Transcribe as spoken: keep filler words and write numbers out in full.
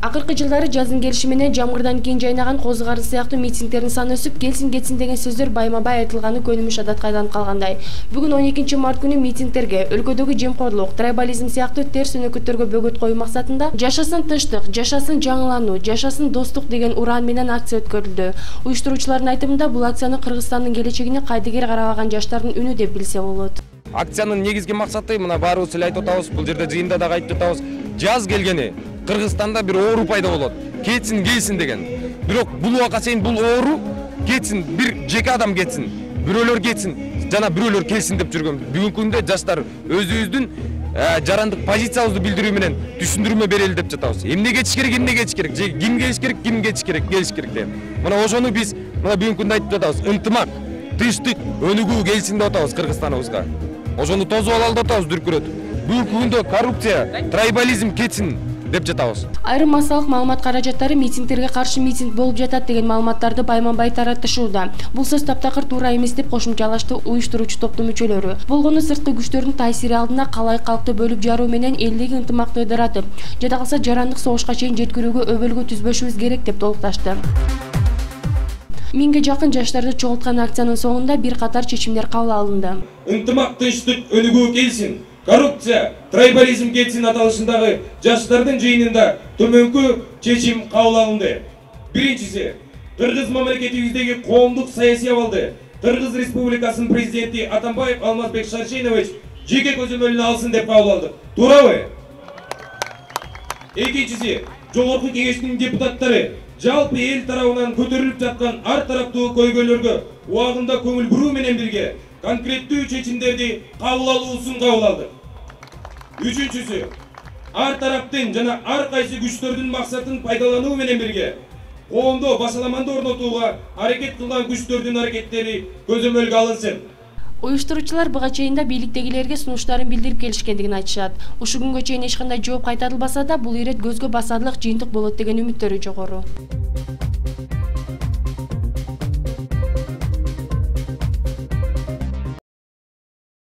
Акыркы жылдары жаздын келиши менен жамгырдан кийин жайнаган козу карын сыяктуу митингдердин саны өсүп, келсин кетсин деген сөздөр байма-бай айтылганы көнүмүш адатка айланып калгандай. Бүгүн он экинчи март күнү митингдерге өлкөдөгү жемкорлук, трайбализм сыяктуу терс өнөкөттөргө бөгөт коюу максатында жашасын тынчтык, жашасын жаңылануу, жашасын достук деген ураан менен акция өткөрүлдү. Уюштуруучулардын айтымында бул акцияны Кыргызстандын келечегине кайдыгер карабаган жаштардын үнү деп билсе болот. Акциянын негизги максаты мына баарыбыз эле айтып атабыз, бул жерде жыйында дагы айтып атабыз. Жаз келгени Кыргызстанда бир оору пайда болот. Кетсин, келсин деген. Бирок бул убакка чейин бул оору кетсин, бир жеке адам кетсин, бирөөлөр кетсин, жана бирөөлөр келсин деп жүргөн. Бүгүнкү күндө жаштар өзүбүздүн жарандык позициябызды билдирүү менен түшүндүрмө берели деп жатабыз. Эмне кетиш керек, эмне кетиш керек, же ким келиш керек, ким кетиш керек, келиш керек деп. Мына ошону биз мына бүгүнкү күндө айтып жатабыз. Ынтымак, тынчтык, өнүгүү келсин деп атабыз Кыргызстаныбызга. Ошону тосуп алалы деп атабыз дүркүрөтүп. Бүгүнкү күндө коррупция, трайбализм кетсин деп жатабыз. Айрым массалык маалымат каражаттары митингдерге каршы митинг болуп жатат деген маалыматтарды байма-бай таратышууда. Бул сөз таптакыр туура эмес деп кошумчалашты уюштуруучу топтун мүчөлөрү. Болгону сырткы күчтөрдүн таасири алдында калай калкты бөлүп жаруу менен элдеги ынтымакты ыдыратып, жада калса жарандык согушка чейин жеткирүүгө өбөлгө түзбөшүбүз керек деп толукташты. Миңге жакын жаштарды чогулткан акциянын соңунда бир катар чечимдер кабыл алынды. Ынтымак, тынчтык, өнүгүү келсин. Коррупция, трайбализм кетсин аталышындагы жаштардын жыйынында төмөнкү чечим кабыл алынды. Биринчиси, Кыргыз мамлекетибиздеги коомдук саясий абалды Кыргыз Республикасынын президенти Атамбаев Алмазбек Шаршенович жеке көзөмөлүнө алсын деп кабыл алдык. Туурабы? Экинчиси, Жогорку Кеңештин депутаттары жалпы эл тарабынан көтөрүлүп жаткан ар тараптуу көйгөйлөргө убагында көңүл буруу менен бирге конкреттүү чечимдерди кабыл алуусун кабыл алдык. Үчүнчүсү, ар тараптын жана ар кайсы күчтөрдүн максатын пайдалануу менен бирге коомдо башаламанды орнотууга аракет кылган күчтөрдүн аракеттери көзөмөлгө алынсын. Уюштуруучулар буга чейин да бийликтегилерге сунуштарын билдирип келишкендигин айтышат. Ушул күнгө чейин эч кандай жооп кайтарылбаса да, бул ирет көзгө басарлык жыйынтык болот деген үмүттөрү жогору.